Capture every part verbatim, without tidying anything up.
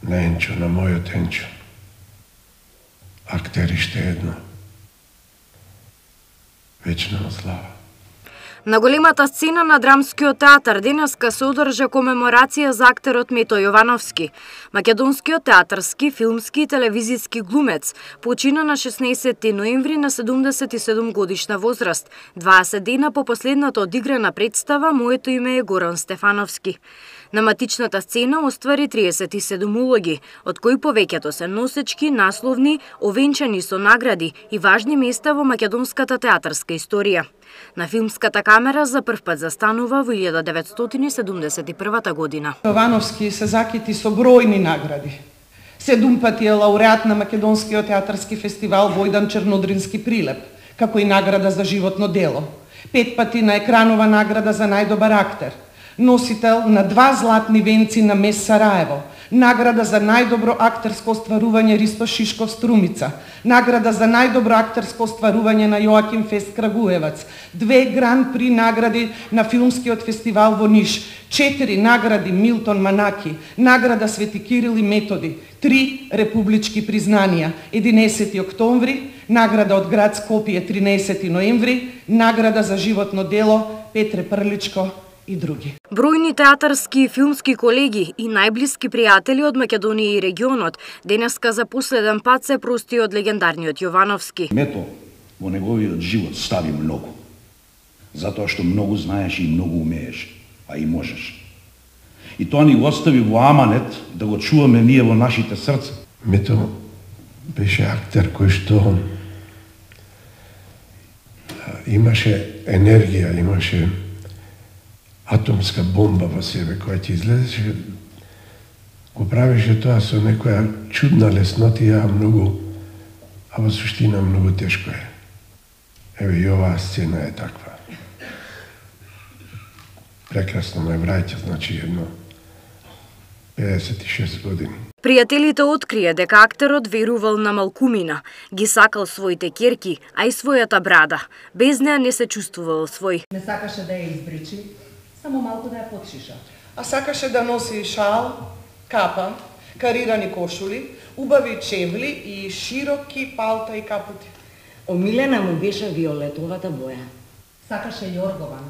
на Енчо, на мојот Енчо. Актериште едно. Вечна слава. На големата сцена на Драмскиот театар денеска се одржа комеморација за актерот Мето Јовановски. Македонскиот театарски, филмски и телевизиски глумец почина на шеснаесетти ноември на седумдесет и седум годишна возраст, дваесет дена по последната одиграна представа Моето име е Горан Стефановски. На матичната сцена оствари триесет и седум улоги, од кои повеќето се носечки, насловни, овенчани со награди и важни места во македонската театарска историја. На филмската камера за прв пат застанува во илјада деветстотини седумдесет и прва година. Јовановски се закити со бројни награди. Седум пати е лауреат на Македонскиот театарски фестивал Војдан Чернодрински прилеп, како и награда за животно дело. Пет пати на екранова награда за најдобар актер. Носител на два златни венци на Мес Сараево, награда за најдобро актерско остварување Ристо Шишков Струмица, награда за најдобро актерско остварување на Јоаким Фест Крагуевац, две гран при награди на филмскиот фестивал во Ниш, четири награди Милтон Манаки, награда Свети Кирил и Методи, три републички признанија, единесети октомври, награда од град Скопје тринаесети ноември, награда за животно дело Петре Прличко и други. Бројни театарски и филмски колеги и најблиски пријатели од Македонија и регионот денеска за последен пат се прости од легендарниот Јовановски. Мето во неговиот живот стави многу, затоа што многу знаеш и многу умееш, а и можеш. И тоа ни го остави во аманет да го чуваме ние во нашите срца. Мето беше актер кој што имаше енергија, имаше атомска бомба во себе, која ќе излезеше, го правеше тоа со некоја чудна леснотија, многу, а во суштина многу тешко е. Еве и оваа сцена е таква. Прекрасно ме враќа, значи едно педесет и шест години. Пријателите открија дека актерот верувал на малкумина, ги сакал своите ќерки, а и својата брада. Без неа не се чувствувал свој. Не сакаше да ја избричи, само малку да ја потшиша. А сакаше да носи шал, капа, карирани кошули, убави чевли и широки палта и капути. Омилена му беше виолетовата боја. Сакаше јоргован.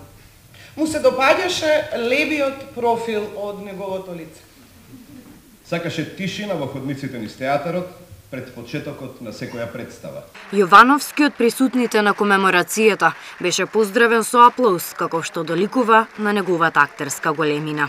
Му се допаѓаше левиот профил од неговото лице. Сакаше тишина во ходниците низ театарот пред почетокот на секоја представа. Јовановски од присутните на комеморацијата беше поздравен со аплауз, како што доликува на неговата актерска големина.